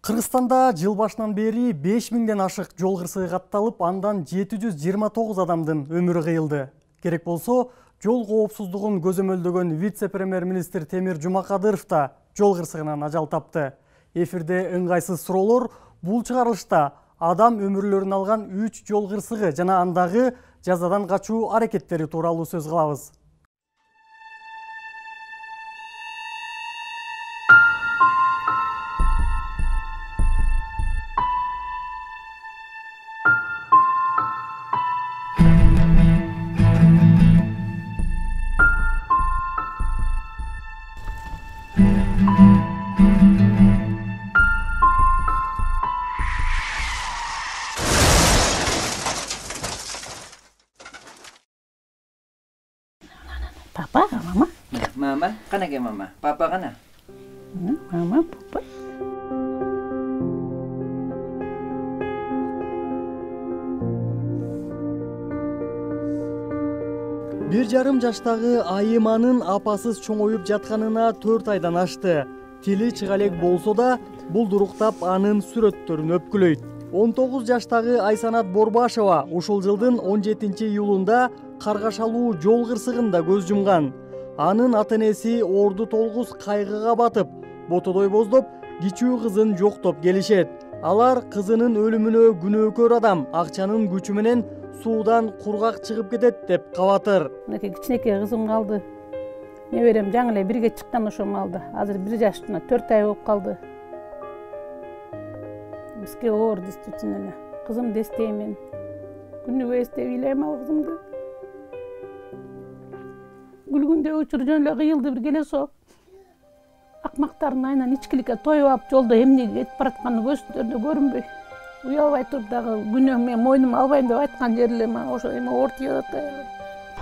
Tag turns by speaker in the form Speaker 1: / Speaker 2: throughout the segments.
Speaker 1: Кыргызстанда жыл башынан бери 5000ден ашык жол кырсыгы катталып, андан 729 адамдын өмүрү кыйылды. Керек болсо, жол коопсуздугун көзөмөлдөгөн вице-премьер-министр Темир Жумакадыров да жол кырсыгынан ажал тапты. Эфирде ыңгайсыз суроолор, бул чыгарылышта адам өмүрлөрүн алган 3 жол кырсыгы жана андагы жазадан качуу аракеттери тууралуу сөз кылабыз.
Speaker 2: Papa, mama?
Speaker 3: Mama, kana ke mama? Papa kana?
Speaker 2: Mama, papa.
Speaker 1: Бир жарым жаштагы Айыманын апасыз чоңоюп жатканына 4 айдан ашты. Тили чыга элек болсо да, булдуруктап анын сүрөттөрүн өпкүлөйт. 19 жаштагы Айсанат Борбашева ушул жылдын 17-июлунда каргашалуу жол кырсыгында көз жумган. Анын ата-энеси орду толгус кайгыга батып, ботодой боздоп, кичүү кызын жоктоп келишет. Алар кызынын өлүмүнө күнөөкөр адам акчанын күчү менен суудан кургак чыгып кетет деп кабатыр.
Speaker 2: Мынакей кичинекей кызым калды. Неберем жаңы эле бирге чыккан ошол маалда. Азыр 1 жашына 4 ай болуп калды. Бизге оор действительно. Кызымды эстеймин. Күнүгө эстеп ыйлайм ал кызымды. Күлгүндө учур жөн эле кыйылды бир келесо. Акмактардын айынан ичкиликке тоюп алып, жолдо эмнеге кетип баратканы көздөрүндө көрүнбөй. Уялбай туруп дагы күнөөм мен мойнума албайм деп айткан жери эле мага ошо эме оор тийип атат аябай.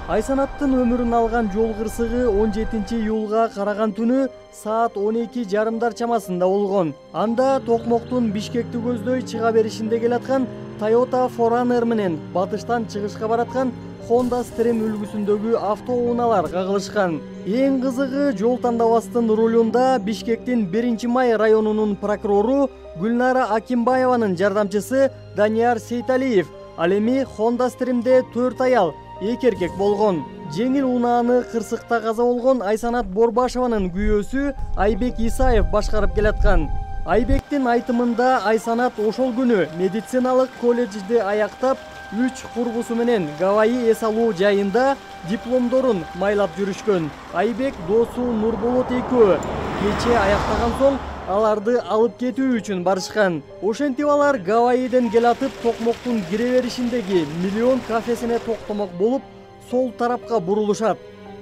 Speaker 1: Айсанаттын өмүрүн алган жол кырсыгы 17-июлга караган түнү саат 12:30 чамасында болгон. Анда Токмоктун Бишкекти көздөй чыга беришинде келаткан Toyota 4Runner менен батыштан чыгышка бараткан Honda Stream үлгүсүндөгү автоунaalар кагылышкан. Эң кызыгы, жол тандабастын рулунда Бишкектин 1-Май районунун прокурору Гүлнара Акимбаеванын жардамчысы Данияр Сейталиев. Ал эми Honda Stream'де 4 аял, 2 эркек болгон. Жеңил унааны кырсыкта каза болгон Айсанат Борбашеванын күйөөсү Айбек Исаев башкарып келаткан. Айбектин айтымында Айсанат ошол күнү медициналык колледжди аяктап, 3 курбусу менен Гавайи эс алуу жайында дипломдорун майлап жүрүшкөн. Айбек досу Нурболот экөө кече аяктаган соң аларды алып кетүү үчүн барышкан. Ошентип алар Гавайиден келатып Токмоктун кире беришиндеги Миллион кафесине токтомок болуп, сол тарапка бурулушат.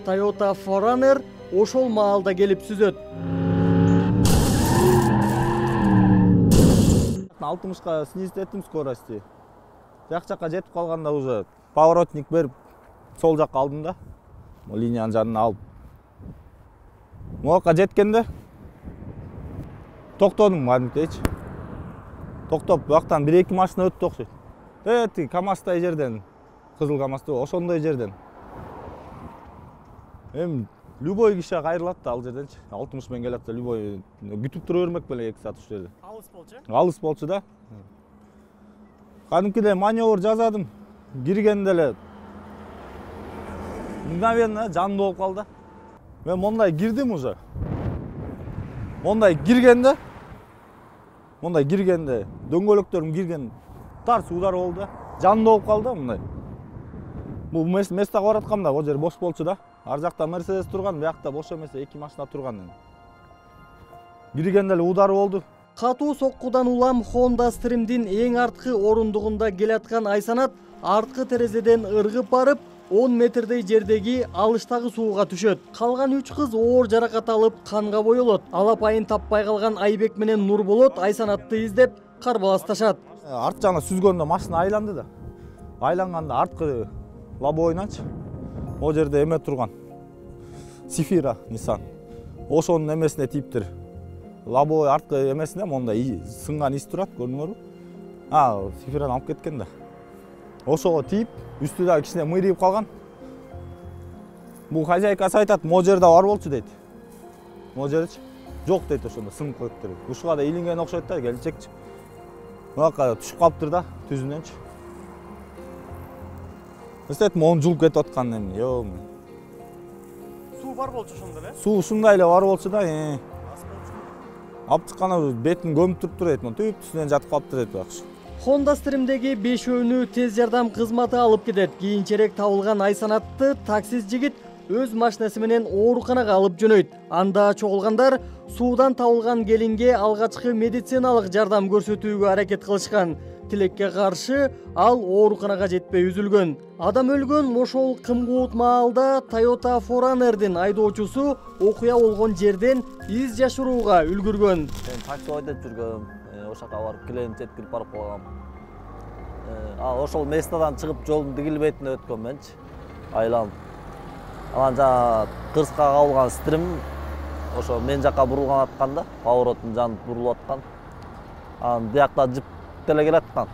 Speaker 1: Toyota 4Runner ошол маалда келип сүзөт.
Speaker 4: 60-ка снизить еттим скорости. Жакка жетип калганда уже поворотник берип сол жакка алдым да. Линиянын жанына алып. Могука жеткенде токтодум кадимкидейчи. Токтоп, бактан 1-2 машина өттү окшойт. Тиги КамАЗдай жерден, кызыл КамАЗды ошондой жерден. Любой киши кайрылат да ал жерденчи. 60 менен келатса любой күтүп тура бермек беле 2 саат ушул жерде.
Speaker 1: Алыс болчу?
Speaker 4: Алыс болчу да. Кадимкидей маневр жасадым. Киргенде эле мгновенно жанды болуп калды. Мен мондай кирдим уже. Мондай киргенде дөңгөлөктөрүм кирген тарс удар болду. Жанды болуп калды мындай. Бул местага бараткамда ал жер бош болчу да. Ар жакта Мерседес турган, биякта бош эмес 2 машина турган. Киргенде эле удар болду.
Speaker 1: Катуу соккудан улам Honda Stream'дин эң арткы орундугунда келаткан Айсанат арткы терезеден ыргып барып, 10 метрдей жердеги алыштагы сууга түшөт. Калган 3 кыз оор жаракат алып, канга боелот. Алапайын таппай калган Айбек менен Нурболот Айсанатты издеп карбаласташат.
Speaker 4: Арт жагына сүзгөндө машина айланды да. Айланганда арткы лобовойнанчы. О жерде эме турган. Сифира Nissan. Ошонун эмесине тийиптир. Лобовой арткы эмесине мондай сынган из турат, көрдүңөрбү? Сифираны алып кеткен да. Ошого тийип, үстү да кичине мыйрыйып калган. Бул хозяйкасы айтат, могу жерде бар болчу дейт. Могу жерчи. жок дейт, ошондо сыңып коюптур. Ушуга да илинген окшойт да, келинчекчи. Мынакка түшүп калыптыр да, түзүнөнчү. Эстетим 10 жыл кетип аткан эмне, жок.
Speaker 1: Суу бар болчу ошондо эле?
Speaker 4: Суу ушундай эле бар болчу да. Алып чыкканда бетин көмүп туруптур дейт, түп түзүнөн жатып калыптыр дейт бакшы.
Speaker 1: Honda Stream'dеги 5-өөнү тез жардам кызматы алып кетет. Кийинчерээк табылган Айсанатты таксист жигит өз машинеси менен ооруканага алып жөнөйт. Анда чогулгандар суудан табылган келинге алгачкы медициналык жардам көрсөтүүгө аракет кылышкан. Тилекке каршы ал ооруканага жетпей үзүлгөн. Адам өлгөн ошол кымгуут маалда Toyota 4Runner'дин айдоочусу окуя болгон жерден из жашырууга үлгүргөн.
Speaker 5: Мен такси ойдоп жүргөм, ошака барып келем, жеткирип барып калгам. Ошол местадан чыгып жолдун тигил бетине өткөм менчи, айланып. Анан жана кырска кабылган стрим ошо мен жака бурулган атканда, поворотун жанып бурулуп аткан. Анан биякта жип деле келаткан.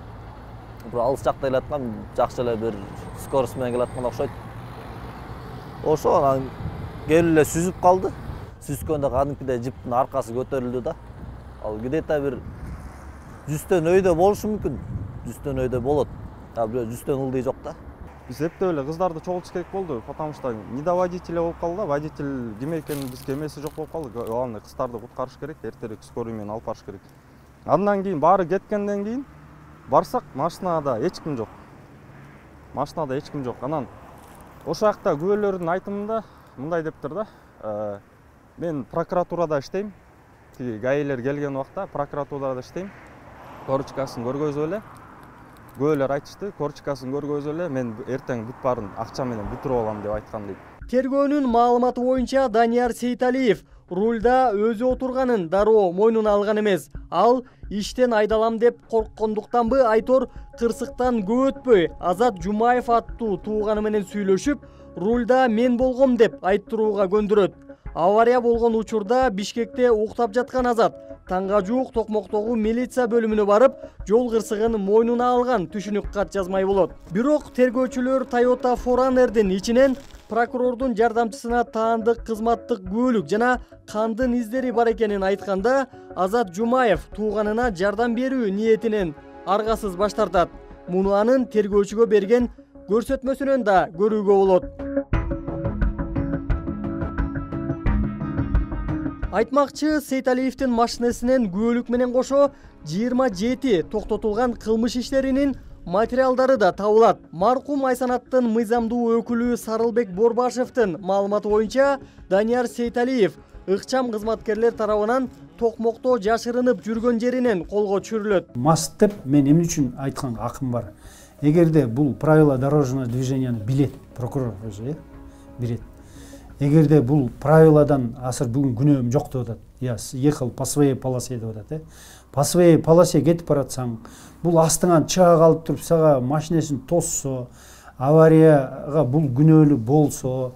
Speaker 5: Бир алыс жакта келаткан, жакшы эле бир скорость менен келаткан окшойт. Ошо анан келип эле сүзүп калды. Сүзгөндө кадимкидей жиптин аркасы көтөрүлдү да. Ал где-то бир 100төн өйдө болушу мүмкүн. 100төн өйдө болот. Бирөө 100төн ылдый жок да.
Speaker 6: Биз эптеп эле кыздарды чогултуш керек болду, потому что не до водителя болуп калды да, водитель ким экенин бизге эмеси жок болуп калды. Главное, кыздарды куткарыш керек, эртерээк скорый менен алып барыш керек. Андан кийин баары кеткенден кийин барсак, машинада эч ким жок. Машинада эч ким жок. Анан ошол жакта күбөлөрдүн айтымында мындай дептир да. Мен прокуратурада иштейм. Тиги гаилер келген убакта прокуратурада иштейм. Корочкасын көргөзүп эле. Күбөлөр айтышты, корочкасын көргөзүп эле, мен эртең бүт баарын акча менен бүтүрүп алам деп айткан дейт.
Speaker 1: Тергөөнүн маалыматы боюнча Данияр Сейталиев рульда өзү отурганын дароо мойнуна алган эмес. Ал иштен айдалам деп корккондуктанбы Айтор кырсыктан көп өтпөй Азат Жумаев аттуу тууганы менен сүйлөшүп, рульда мен болгом деп айттырууга көндүрөт. Авария болгон учурда Бишкекте уктап жаткан Азат таңга жуук Токмоктогу милиция бөлүмүнө барып, жол кырсыгын мойнуна алган түшүнүк кат жазмай болот. Бирок тергөөчүлөр Toyota 4Runner'дин ичинен прокурордун жардамчысына таандык кызматтык күбөлүк жана кандын издери бар экенин айтканда, Азат Жумаев тууганына жардам берүү ниетинен аргасыз баш тартат. Муну анын тергөөчүгө берген көрсөтмөсүнөн да көрүүгө болот. Айтмакчы, Сейталиевдин машинесинен күбөлүк менен кошо 27 токтотулган кылмыш иштеринин материалдары да табылат. Маркум Айсанаттын мыйзамдуу өкүлү Сарылбек Борбашевдин маалыматы боюнча, Данияр Сейталиев ыкчам кызматкерлер тарабынан Токмокто жашырынып жүргөн жеринен колго түшүрүлөт.
Speaker 7: Маст деп мен эмне үчүн айтканга акым бар. Эгерде бул правила дорожного движенияны билет, прокурор өзү билет. Эгерде бул правиладан азыр бүгүн күнөөм жок деп атат. Я ехал по своей полосе деп атат. По своей полосе кетип баратсаң, бул астыңан чыга калып туруп сага машинесин тоссо, аварияга бул күнөөлүү болсо,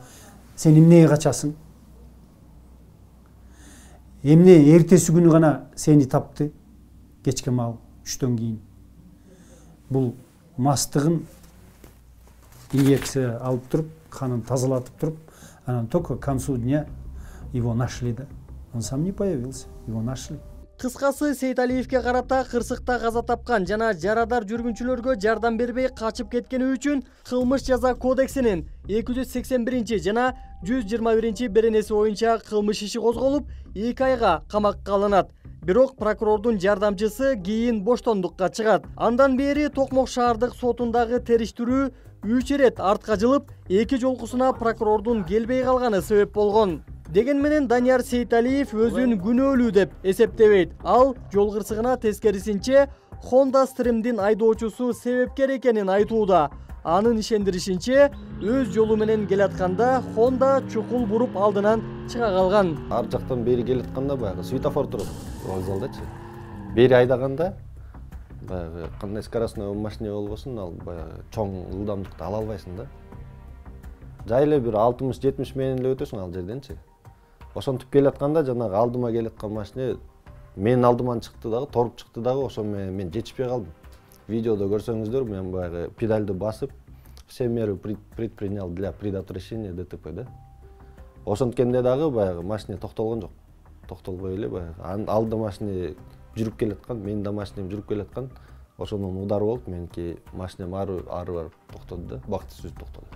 Speaker 7: сен эмнеге качасың? Эмне эртеси күнү гана сени тапты, кечке маал 3төн кийин. Бул мастыгын инъекция алып туруп, канын тазалатып туруп, анан только к концу дня его нашли, да. Он сам не появился, его нашли.
Speaker 1: Кыскасы, Сейталиевке карата кырсыкта каза тапкан жана жарадар жүргүнчүлөргө жардам бербей качып кеткени үчүн кылмыш жаза кодексинин 281 жана 121 беренеси боюнча кылмыш иши козголуп, 2 айга камакка алынат. Бирок прокурордун жардамчысы кийин боштондукка чыгат. Андан бери Токмок шаардык сотундагы териштирүү 3 ирет артка жылып, 2 жолкусуна прокурордун келбей калганы себеп болгон. Деген менен Данияр Сейталиев өзүн күнөөлүү деп эсептебейт. Ал жол кырсыгына тескерисинче Honda Stream'дин айдоочусу себепкер экенин айтууда. Анын ишендиришинче, өз жолу менен келатканда Honda чукул буруп алдынан чыга калган.
Speaker 8: Ар жактан бери келатканда баягы светофор туруп, вокзалдачы. Бери айдаганда баягы кандай скоростной машина болбосун, ал баягы чоң ылдамдыкты ала албайсың да. Жай эле бир 60-70 менен эле өтөсүң ал жерденчи. Ошентип келатканда жанагы алдыма келаткан машина менин алдыман чыкты дагы, торуп чыкты дагы, ошо мен жетишпей калдым. Видеодо көрсөңүздөр, мен баягы педальды басып, все меры предпринял для предотвращения ДТП да. Ошенткенде дагы баягы машина токтолгон жок. токтолбой эле баягы алда машина жүрүп келаткан, менин да машинем жүрүп келаткан. Ошондон удар болуп, меники машинем ары барып токтоду да, бактысыз токтоду.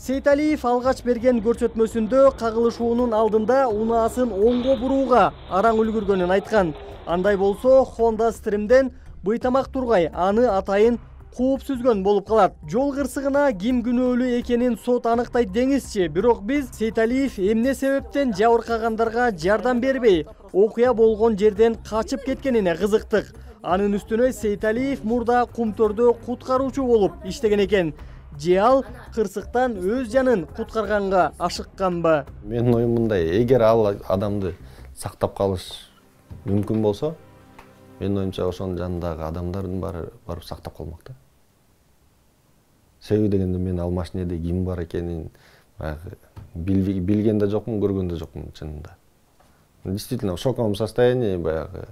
Speaker 1: Сейталиев алгач берген көрсөтмөсүндө кагылышуунун алдында унаасын оңго бурууга араң үлгүргөнүн айткан. Андай болсо Honda Stream'ден быйтамак тургай аны атайын кууп сүзгөн болуп калат. Жол кырсыгына ким күнөөлүү экенин сот аныктайт деңизчи, бирок биз Сейталиев эмне себептен жабыркагандарга жардам бербей, окуя болгон жерден качып кеткенине кызыктык. Анын үстүнө Сейталиев мурда Кумтөрдө куткаруучу болуп иштеген экен. Же ал кырсыктан өз жанын куткарганга ашыкканбы?
Speaker 8: Менин оюм мындай, эгер ал адамды сактап калыш мүмкүн болсо, менин оюмча ошонун жанындагы адамдардын баары барып сактап калмак да. Себеби дегенде мен ал машинеде ким бар экенин баягы билген да жокмун, көргөн да жокмун чынында. Действительно в шоковом состоянии баягы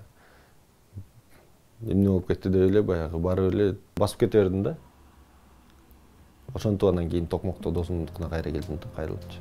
Speaker 8: эмне болуп кетти деп эле баягы барып эле басып кете бердим да. Ошентип андан кийин Токмокто досумдукуна кайра келдим да, кайрылыпчы.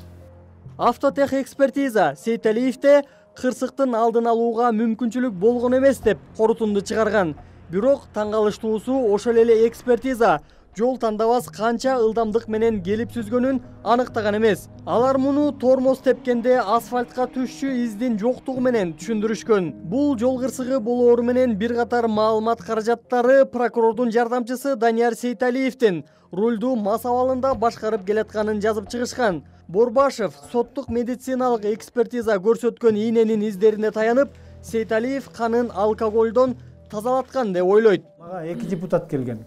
Speaker 1: Автотех экспертиза Сейталиевде кырсыктын алдын алууга мүмкүнчүлүк болгон эмес деп корутунду чыгарган. Бирок таң калыштуусу ошол эле экспертиза жол тандабас канча ылдамдык менен келип сүзгөнүн аныктаган эмес. Алар муну тормоз тепкенде асфальтка түшчү издин жоктугу менен түшүндүрүшкөн. Бул жол кырсыгы болоору менен бир катар маалымат каражаттары прокурордун жардамчысы Данияр Сейталиевдин рулду мас абалында башкарып келатканын жазып чыгышкан. Борбашев соттук медициналык экспертиза көрсөткөн ийненин издерине таянып, Сейталиев канын алкоголдон тазалаткан деп ойлойт.
Speaker 7: Мага 2 депутат келген.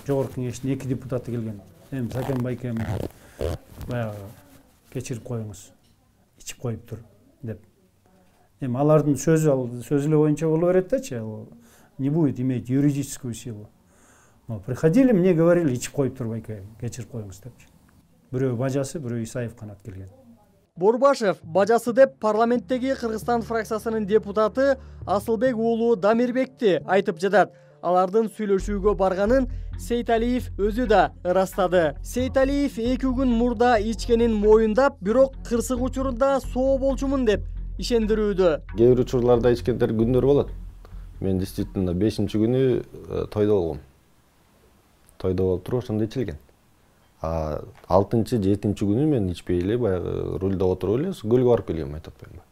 Speaker 7: Жогорку кеңештин 2 депутаты келген. Эми Сакен байкем баягы кечирип коюңуз, ичип коюптур деп. Эми алардын сөзү эле боюнча боло берет дачы, не будет иметь юридическую силу. Но приходили, мне говорили, ичип коюптур байке, кечирип коюңуз депчи. Бирөө бажасы, бирөө Исаев канат келген.
Speaker 1: Борбашев бажасы деп парламенттеги Кыргызстан фракциясынын депутаты Асылбек уулу Дамирбекти айтып жатат. Алардын сүйлөшүүгө барганын Сейталиев өзү да ырастады. Сейталиев 2 күн мурда ичкенин моюндап, бирок кырсык учурунда соо болчумун деп ишендирүүдө.
Speaker 8: Кээ бир учурларда ичкендер күндөр болот. Мен действительно 5-күнү тойдо болгом. Тойдо болуп туруп ошондо ичилген. 6-7 күнү мен ичпей эле баягы рульда отуруп эле көлгө барып келгем, айтып атпаймынбы.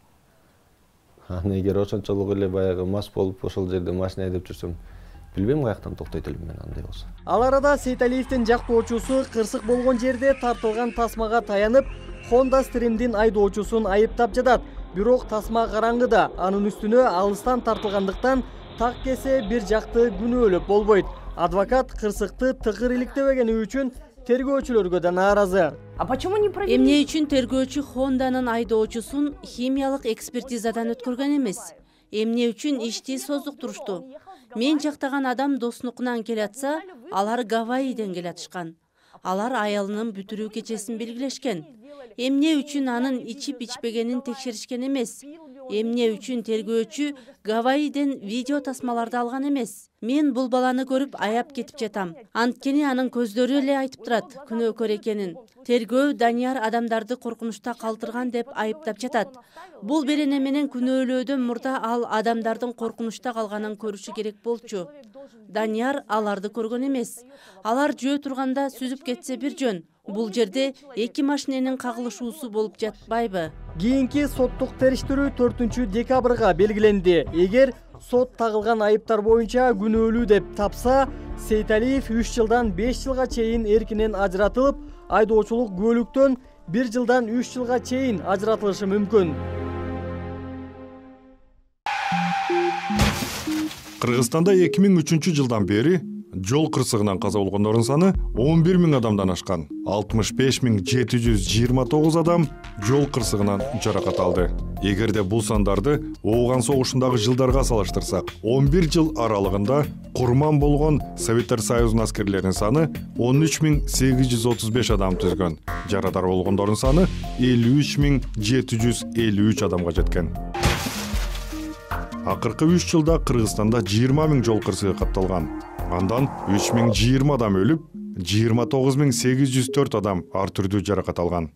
Speaker 8: Аны эгер ошончолук эле баягы мас болуп ошол жерде машина айдап жүрсөм, билбейм каяктан токтойт элем мен андай болсо.
Speaker 1: Ал арада Сейталиевдин жактоочусу кырсык болгон жерде тартылган тасмага таянып, Honda Stream'дин айдоочусун айыптап жатат. Бирок тасма караңгыда, анын үстүнө алыстан тартылгандыктан так кесе бир жакты күнөөлөп болбойт. Адвокат кырсыкты тыгыр иликтебегени үчүн тергөөчүлөргө да нааразы.
Speaker 9: Эмне үчүн тергөөчү Хонданын айдоочусун химиялык экспертизадан өткөргөн эмес? Эмне үчүн ишти создуктурушту? Мен жактаган адам доснукунан келатса, алар Гавайиден келатышкан. Алар аялынын бүтүрүү кечесин белгилешкен. Эмне үчүн анын ичип-ичпегенин текшеришкен эмес? Эмне үчүн тергөөчү Гавайиден видео тасмаларды алган эмес? Мен бул баланы көрүп аяп кетип жатам. Анткени анын көздөрү эле айтып турат күнөөкөр экенин. Тергөө Данияр адамдарды коркунучта калтырган деп айыптап жатат. Бул берене менен күнөөлөөдөн мурда ал адамдардын коркунучта калганын көрүшү керек болчу. Данияр аларды көргөн эмес. Алар жөө турганда сүзүп кетсе бир жөн. Бул жерде 2 машиненин кагылышуусу болуп жатпайбы?
Speaker 1: Кийинки соттук териштирүү 4-декабрга белгиленди. Эгер сот тагылган айыптар боюнча күнөөлүү деп тапса, Сейталиев 3 жылдан 5 жылга чейин эркинен ажыратылып, айдоочулук күбөлүктөн 1 жылдан 3 жылга чейин ажыратылышы мүмкүн.
Speaker 10: Кыргызстанда 2003 жылдан бери жол кырсыгынан каза болгондордун саны 11 000 адамдан ашкан. 65 729 адам жол кырсыгынан жаракат алды. Эгерде бул сандарды Ооган согушундагы жылдарга салыштырсак, 11 жыл аралыгында курман болгон Советтер Союзунун аскерлеринин саны 13 835 адам түзгөн. Жарадар болгондордун саны 53 753 адамга жеткен. Акыркы 3 жылда Кыргызстанда 20 000 жол кырсыгы катталган. Андан 3020 адам өлүп, 29804 адам ар түрдүү жаракат алган.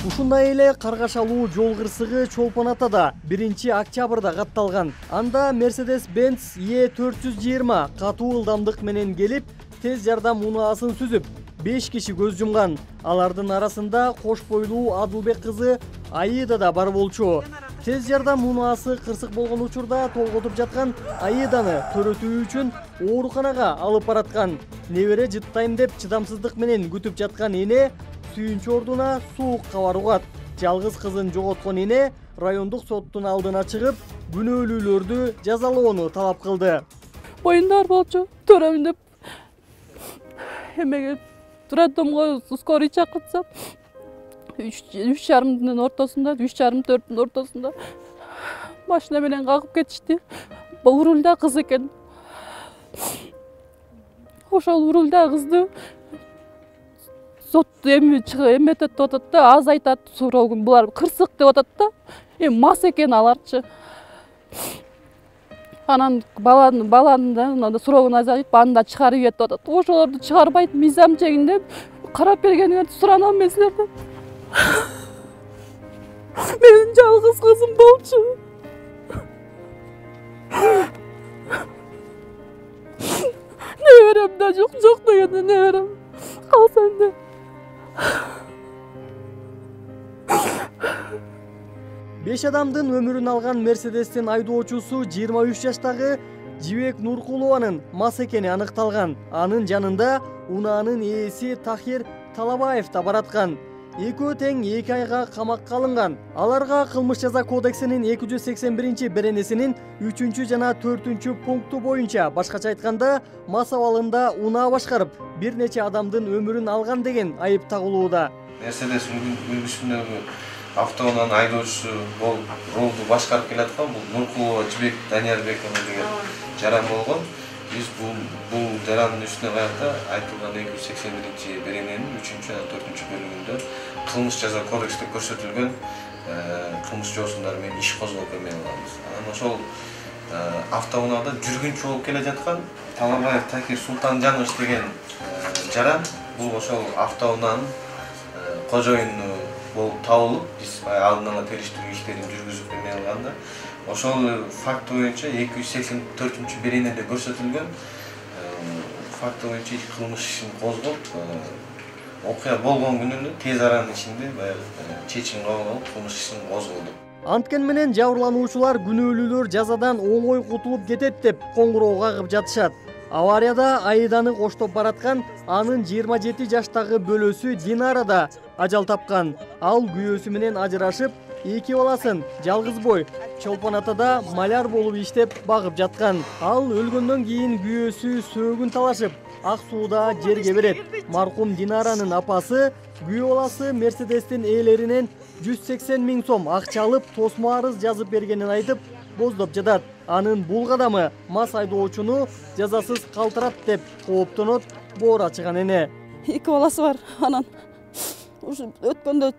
Speaker 1: Ушундай эле каргашалуу жол кырсыгы Чолпон Атада 1-октябрда катталган. Анда Mercedes-Benz E420 катуу ылдамдык менен келип, тез жардам унаасын сүзүп, 5 киши көз жумган. Алардын арасында кош бойлуу Адылбек кызы Аида да бар болчу. Тез жардам унаасы кырсык болгон учурда толготуп жаткан Аиданы төрөтүү үчүн ооруканага алып бараткан. Небере жыттайм деп чыдамсыздык менен күтүп жаткан эне сүйүнчү ордуна суукка барууга. Жалгыз кызын жоготкон эне райондук соттун алдына чыгып, күнөөлүүлөрдү жазалоону талап кылды.
Speaker 2: Боюндар болчу, төрөм деп эмеге роддомго скорый чакыртсам, 3:30-дын ортосунда, 3:30-4-түн ортосунда машина менен кагып кетишти. Урулда кыз экен. Ошол урулда кызды сот эметет деп атат да, аз айтат суроогун. Булар кырсык деп атат да. Мас экен аларчы. Анан баланын да суроогун азайтып, аны да чыгарып ийет деп атат. Ошолорду чыгарбайт, мыйзам чегинде карап бергениңерди суранам мен силерден. Менин жалгыз кызым болчу. Неберем да жок дегенде неберем. Калса энди.
Speaker 1: Беш адамдын өмүрүн алган Мерседестин айдоочусу 23 жаштагы Жибек Нуркулованын мас экени аныкталган. Анын жанында унаанын ээси Тахир Талабаев да бараткан. Экөө тең 2 айга камакка алынган. Аларга кылмыш жаза кодексинин 281 беренесинин 3 жана 4 пункту боюнча, башкача айтканда, мас абалында унаа башкарып, бир нече адамдын өмүрүн алган деген айып тагылууда.
Speaker 11: Мерседес үлгүсүндөгү автоунаанын айдоочусу болуп ролду башкарып келаткан бул Нуркулова Жибек Даниярбековна деген жаран болгон. Биз бул жарандын үстүнө каякта айтылган 281 берененин 3 жана 4 бөлүгүндө кылмыш жаза кодексте көрсөтүлгөн кылмыш жоосундар менен иш козгоп эмелебиз. Анан ошол автоунаада жүргүнчү болуп келе жаткан Талабаев Такир Султанжанович деген жаран бул ошол автоунаанын кожоюну болуп табылып, биз алдын ала териштирүү иштерин жүргүзүп эмелганда, ошол факт боюнча 284 беренеде көрсөтүлгөн факт боюнча кылмыш ишин козгоп, окуя болгон күнүнө тез аранын ичинде чечим кабыл алып, кылмыш ишин козголду.
Speaker 1: Анткен менен жабырлануучулар күнөөлүүлөр жазадан оңой кутулуп кетет деп коңгуроо кагып жатышат. Аварияда Аиданы коштоп бараткан анын 27 жаштагы бөлөсү Динара да ажал тапкан. Ал күйөөсү менен ажырашып, 2 баласын жалгыз бой Чолпон Атада маляр болуп иштеп багып жаткан. Ал өлгөндөн кийин күйөөсү сөөгүн талашып, ак сууда жерге берет. Маркум Динаранын апасы күйөө баласы Мерседестин ээлеринен 180 000 сом акча алып, тосмо арыз жазып бергенин айтып, боздоп жатат. Анын бул кадамы мас айдоочуну жазасыз калтырат деп кооптонот боор ачыган эне.
Speaker 2: 2 баласы бар. Анан ушу өткөндө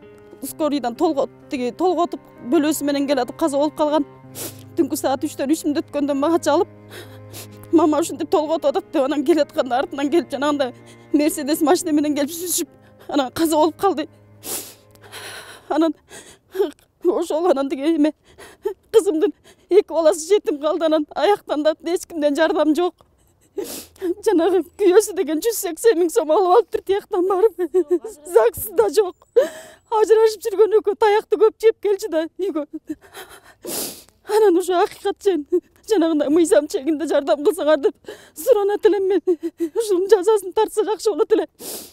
Speaker 2: скорыйдан толготуп бөлөсү менен келатып каза болуп калган. Түнкү саат 3-төн 3 мүнөт өткөндө мага чалып, мама ушинтип толготуп атат деп, анан келатканда артынан келип жанагындай Мерседес машина менен келип сүзүшүп, анан каза болуп калды. Анан ошол анан деген эме кызымдын 2 баласы жетим калды. Анан аяктан да эч кимден жардам жок. Жанагы күйөөсү деген 180 000 сом алып алыптыр тияктан барып. ЗАГС да жок. Ажырашып жүргөн экөө таякты көп жеп келчү да үйгө. Анан ушу акыйкат жанагындай мыйзам чегинде жардам кылсаңар деп суранат элем мен. Ушунун жазасын тартса жакшы болот эле.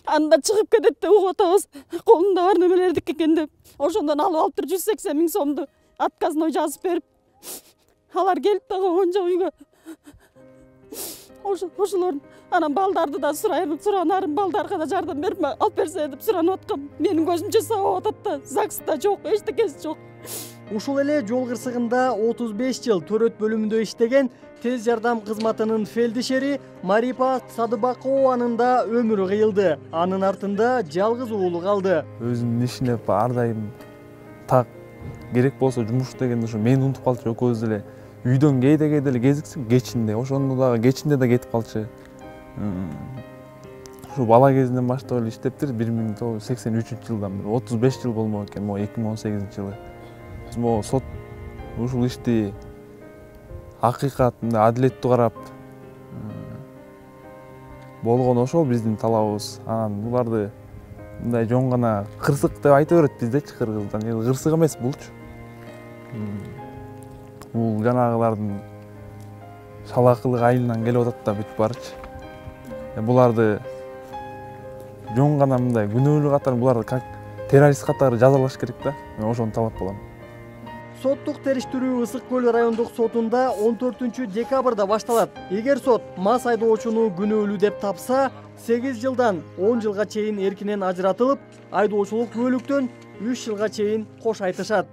Speaker 2: Анда чыгып кетет деп угуп атабыз. Колунда бар немелердик экен деп. Ошондон алып алыптыр 180 000 сомду. Отказной жазып берип. Алар келип дагы он жок үйгө. Ошолордун анан балдарды да суранарым, балдарга да жардам берип алып берсе деп суранып аткам. Менин көзүмчө сабап атат да, ЗАГС да жок, эчтекеси жок.
Speaker 1: Ушул эле жол кырсыгында 35 жыл төрөт бөлүмүндө иштеген тез жардам кызматынын фельдшери Марипа Садыбакованын да өмүрү кыйылды. Анын артында жалгыз уулу калды.
Speaker 12: Өзүнүн ишине ар дайым так керек болсо жумуш дегенде ушу мени унутуп калчу экөөбүз эле үйдөн кээде эле кезиксиң кечинде, ошондо дагы кечинде да кетип калчу. Ушу бала кезинен баштап эле иштептир. 1983-жылдан бери 35 жыл болмок экен, могу 2018-жылы. Могу сот ушул ишти акыйкат, адилеттүү карап болгон ошол биздин талабыбыз. Анан буларды мындай жон гана кырсык деп айта берет биздечи кыргыздан. Кырсык эмес булчу. Бул жанагылардын шалакылык айылынан келип атат да бүт барчы. Буларды жон гана мындай күнөөлүү катары буларды как террорист катары жазалаш керек да. Мен ошону талап кылам.
Speaker 1: Соттук териштирүү Ысык көл райондук сотунда 14-декабрда башталат. Эгер сот мас айдоочуну күнөөлүү деп тапса, 8 жылдан 10 жылга чейин эркинен ажыратылып, айдоочулук күбөлүктөн 3 жылга чейин кош айтышат.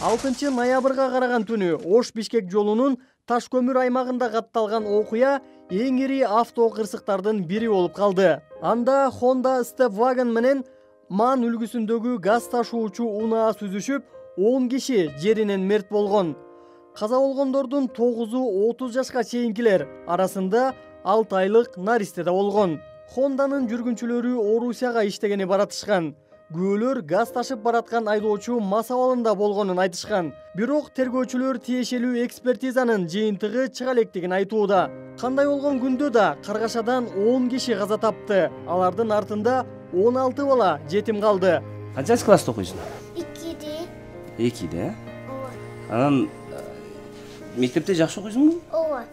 Speaker 1: 6 ноябрга караган түнү Ош-Бишкек жолунун Таш көмүр аймагында катталган окуя эң ири авто кырсыктардын бири болуп калды. Анда Honda Stepwagon менен Ман үлгүсүндөгү газ ташуучу унаа сүзүшүп, 10 киши жеринен мерт болгон. Каза болгондордун 9-у 30 жашка чейинкилер, арасында 6 айлык наристе да болгон. Хонданын жүргүнчүлөрү Орусияга иштегени баратышкан. Күбөлөр газ ташып бараткан айдоочу мас абалында болгонун айтышкан. Бирок тергөөчүлөр тиешелүү экспертизанын жыйынтыгы чыга электигин айтууда. Кандай болгон күндө да каргашадан 10 киши каза тапты. Алардын артында 16 бала жетим калды.
Speaker 13: Канчанчы класста окуйсуң?
Speaker 14: 2-де.
Speaker 13: 2-де? Ооба. Анан мектепте жакшы окуйсуңбу?
Speaker 14: Ооба.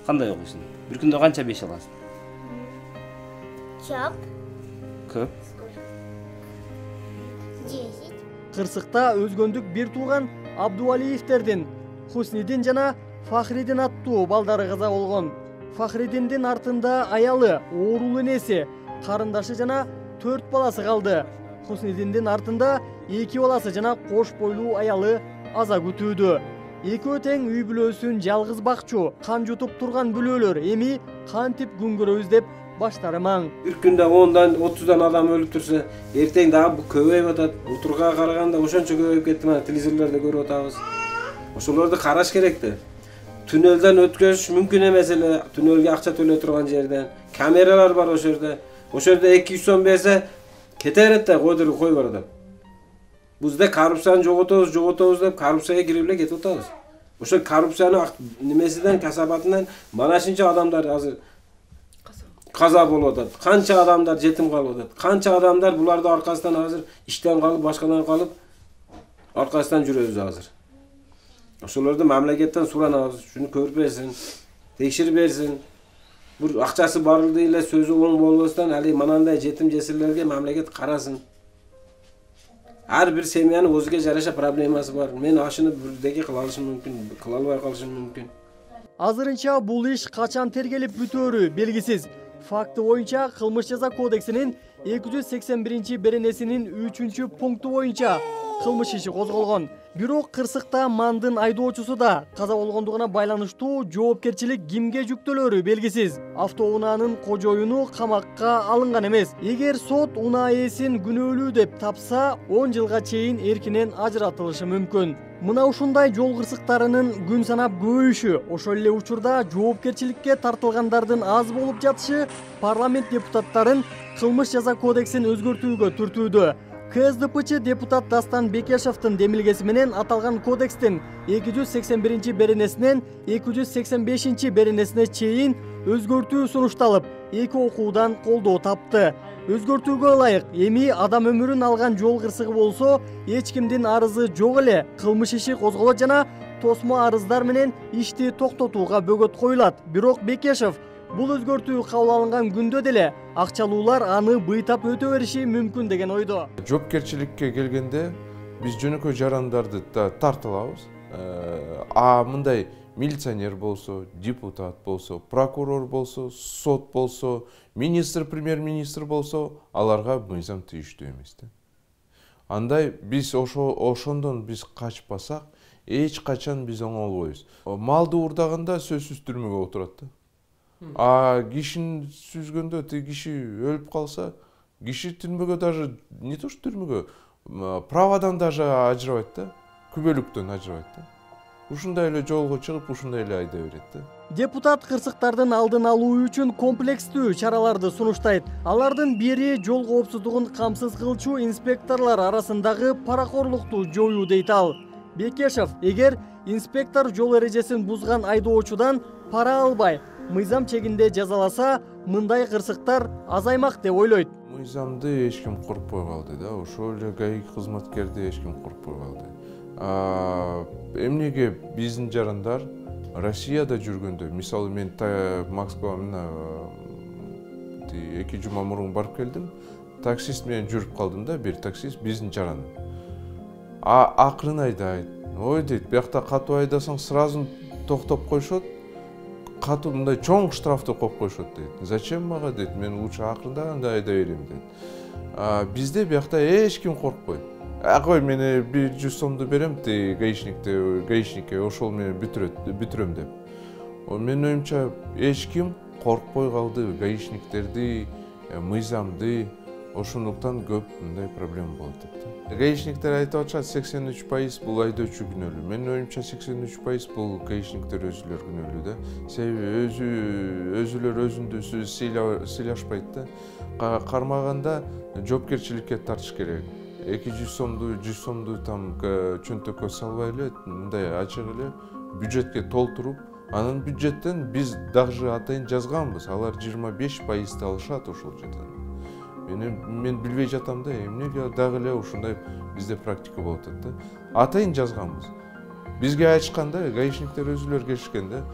Speaker 13: Кандай окуйсуң? Бир күндө канча 5 аласың?
Speaker 14: Чап.
Speaker 13: Көп.
Speaker 1: Кырсыкта өзгөндүк бир тууган Абдуалиевтердин Хуснидин жана Фахридин аттуу балдары каза болгон. Фахридиндин артында аялы, оорулуу энеси, карындашы жана 4 баласы калды. Хуснидиндин артында 2 баласы жана кош бойлуу аялы аза күтүүдө. Экөө тең үй бүлөсүн жалгыз бакчу, кан жутуп турган бүлөлөр эми кантип күн көрөбүз деп баштары маң.
Speaker 15: Бир күндө 10-дан 30-дан адам өлүп турса, эртең дагы көбөйүп атат. Утурга караганда ошончо көбөйүп кетти, мына телевизорлордо көрүп атабыз. Ошолорду караш керек да. Түнөлдөн өткөзүш мүмкүн эмес эле, түнөлгө акча төлөй турган жерден. Камералар бар ошол жерде. Ошол жерде 200 сом берсе, кете берет да, койдуруп кой бар да. Бизде коррупцияны жоготобуз деп коррупцияга кирип эле кетип атабыз. Ошол коррупциянын немесинен, касабатынан мана ушунча адамдар азыр каза болуп атат. Канча адамдар жетим калып атат. Канча адамдар булардын аркасынан азыр иштен калып, башкадан калып, аркасынан жүрөбүз азыр. Ошолорду мамлекеттен суранабыз, шуну көрүп берсин, текширип берсин. Бир акчасы барды эле сөзү оң болбостон, али манандай жетим жесирлерге мамлекет карасын. Ар бир семьянын өзүгө жараша проблемасы бар. Мен ашыны бирдеге кыла алышым мүмкүн, кыла албай калышым мүмкүн.
Speaker 1: Азырынча бул иш качан тергелип бүтөөрү белгисиз. Факты боюнча кылмыш жаза кодексинин 281-беренесинин 3-пункту боюнча кылмыш иши козголгон. Бирок кырсыкта Мандын айдоочусу да каза болгондугуна байланыштуу жоопкерчилик кимге жүктөлөрү белгисиз. Автоунаанын кожоюну камакка алынган эмес. Эгер сот унаа ээсин күнөөлүү деп тапса, 10 жылга чейин эркинен ажыратылышы мүмкүн. Мына ушундай жол кырсыктарынын күн санап көбөйүшү, ошол эле учурда жоопкерчиликке тартылгандардын аз болуп жатышы парламент депутаттарын кылмыш жаза кодексин өзгөртүүгө түртүүдө. КСДПчы депутат Дастан Бекешевдин демилгеси менен аталган кодекстин 281-беренесинен 285-беренесине чейин өзгөртүү сунушталып, 2 окуудан колдоо тапты. Өзгөртүүгө ылайык эми адам өмүрүн алган жол кырсыгы болсо, эч кимдин арызы жок эле кылмыш иши козголот жана тосмо арыздар менен ишти токтотууга бөгөт коюлат. Бирок Бекешев бул өзгөртүү кабыл алынган күндө деле акчалуулар аны быйтап өтө бериши мүмкүн деген ойдо.
Speaker 16: Жоопкерчиликке келгенде биз жөнөкөй жарандарды тарта алабыз. Мындай милиционер болсо, депутат болсо, прокурор болсо, сот болсо, министр, премьер-министр болсо, аларга мыйзам тийиштүү эмес да. Андай биз ошондон биз качпасак, эч качан биз оңолбойбуз. Малды уурдаганда сөзсүз түрмөгө отурат да. А кишини сүзгөндө тиги киши өлүп калса, киши түрмөгө даже не то что түрмөгө, правадан даже ажырабайт да, күбөлүктөн ажырабайт да. Ушундай эле жолго чыгып, ушундай эле айдай берет да.
Speaker 1: Депутат кырсыктардын алдын алуу үчүн комплекстүү чараларды сунуштайт. Алардын бири жол коопсуздугун камсыз кылчу инспекторлор арасындагы паракорлукту жоюу дейт ал. Бекешев, эгер инспектор жол эрежесин бузган айдоочудан пара албай, мыйзам чегинде жазаласа, мындай кырсыктар азаймак деп ойлойт.
Speaker 16: Мыйзамды эч ким коркпой калды да, ошол эле ГАИ кызматкерди эч ким коркпой калды. Эмнеге биздин жарандар Россияда жүргөндө, мисалы мен Москвага мына 2 жума мурун барып келдим, таксист менен жүрүп калдым да, бир таксист биздин жаран. Акырын айдайт. Ой дейт, биякта катуу айдасаң сразу токтоп койшот. Катуу мындай чоң штрафты коюп койшот дейт. Зачем мага дейт, мен лучше акырындаганда айдай берем дейт. Бизде биякта эч ким коркпойт. Кой мен 100 сомду берем гаишникке, ошол менен бүтүрөм деп. Менин оюмча эч ким коркпой калды гаишниктерди, мыйзамды, ошондуктан көп мындай проблема болот деп. Гаишниктер айтып атышат 83% бул айдоочу күнөөлүү. Менин оюмча 83% бул гаишниктер өзүлөр күнөөлүү да. Себеби өзүлөр өзүндү сыйлашпайт да. Кармаганда жоопкерчиликке тартыш керек. 200 сомду, 100 сомду там чөнтөккө салбай эле, мындай ачык эле бюджетке толтуруп, анан бюджеттен биз дагы атайын жазганбыз, алар 25% алышат ошол жерден. Мен билбей жатам да, эмнеге дагы эле ушундай бизде практика болуп атат да. Атайын жазганбыз. Бизге айтышканда, гаишниктер өзүлөр келишкен да,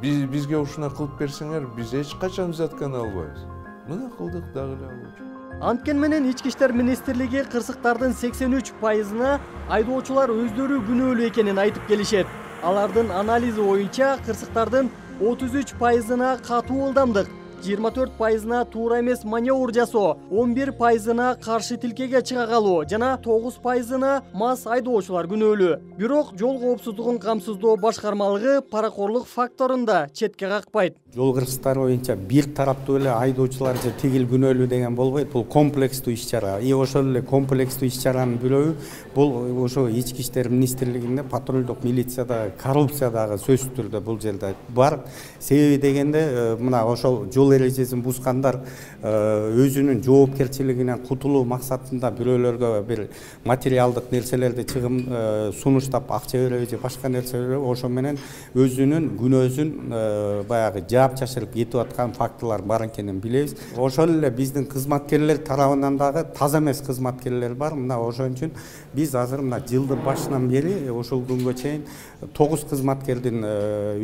Speaker 16: бизге ушуна кылып берсеңер, биз эч качан взятканы албайбыз. Мына кылдык дагы эле алып.
Speaker 1: Анткени менен Ички иштер министрлиги кырсыктардын 83%-на айдоочулар өздөрү күнөөлүү экенин айтып келишет. Алардын анализи боюнча кырсыктардын 33%-на катуу ылдамдык, 24%-на туура эмес маневр жасоо, 11%-на каршы тилкеге чыга калуу жана 9%-на мас айдоочулар күнөөлүү. Бирок жол коопсуздугун камсыздоо башкармалыгы паракорлук факторун да четке какпайт.
Speaker 14: Жол кырсыктары боюнча бир тараптуу эле айдоочулар же тигил күнөөлүү деген болбойт. Бул комплекстүү иш-чара. Ошол эле комплекстүү иш-чаранын бирөөү бул ошо Ички иштер министрлигинде патрулдук милицияда коррупциядагы сөзсүз түрдө бул жерде бар. Себеби дегенде мына ошол жол эрежесин бузгандар өзүнүн жоопкерчилигинен кутулуу максатында бирөөлөргө бир материалдык нерселерди чыгым сунуштап акча береби же башка нерсе береби, ошо менен өзүнүн күнөөсүн баягы жаап-чашырып кетип аткан фактылар бар экенин билебиз. Ошол эле биздин кызматкерлер тарабынан дагы таза эмес кызматкерлер бар. Мына ошон үчүн биз азыр мына жылдын башынан бери ошол күнгө чейин 9 кызматкердин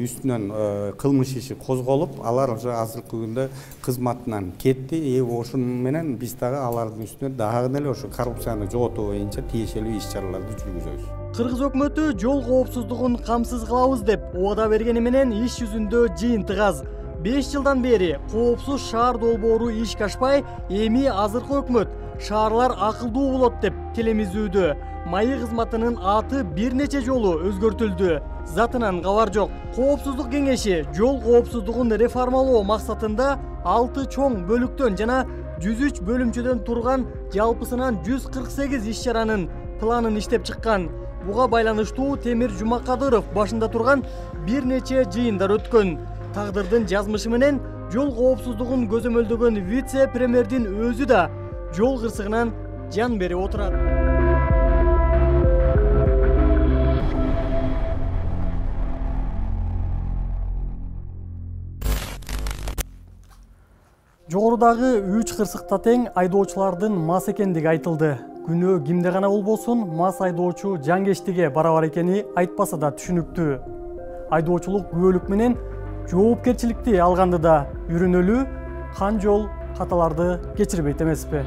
Speaker 14: үстүнөн кылмыш иши козголуп, алар уже азыркы күндө кызматынан кетти. Ошон менен биз дагы алардын үстүнө дагы эле ошо коррупцияны жоготуу боюнча тиешелүү иш-чараларды жүргүзөбүз.
Speaker 1: Кыргыз өкмөтү жол коопсуздугун камсыз кылабыз деп убада бергени менен иш жүзүндө жыйынтык аз. 5 жылдан бери коопсуз шаар долбоору ишке ашпай, эми азыркы өкмөт шаарлар акылдуу болот деп телемиздүүдө. Майы кызматынын аты бир нече жолу өзгөртүлдү. Затынан кабар жок. Коопсуздук кеңеши жол коопсуздугун реформалоо максатында 6 чоң бөлүктөн жана 103 бөлүмчөдөн турган жалпысынан 148 иш-чаранын планын иштеп чыккан. Буга байланыштуу Темир Жумакадыров башында турган бир нече жыйындар өткөн. Тагдырдын жазмышы менен жол коопсуздугун көзөмөлдөгөн вице-премьердин өзү да жол кырсыгынан жан берип отурат. Жогорудагы 3 кырсыкта тең айдоочулардын мас экендиги айтылды. Күнөө кимде гана болбосун, мас айдоочу жанкечтиге барабар экени айтпаса да түшүнүктүү. Айдоочулук күбөлүк менен жоопкерчиликти алганды да үйрөнөлүү, кан жол каталарды кечирбейт эмеспи?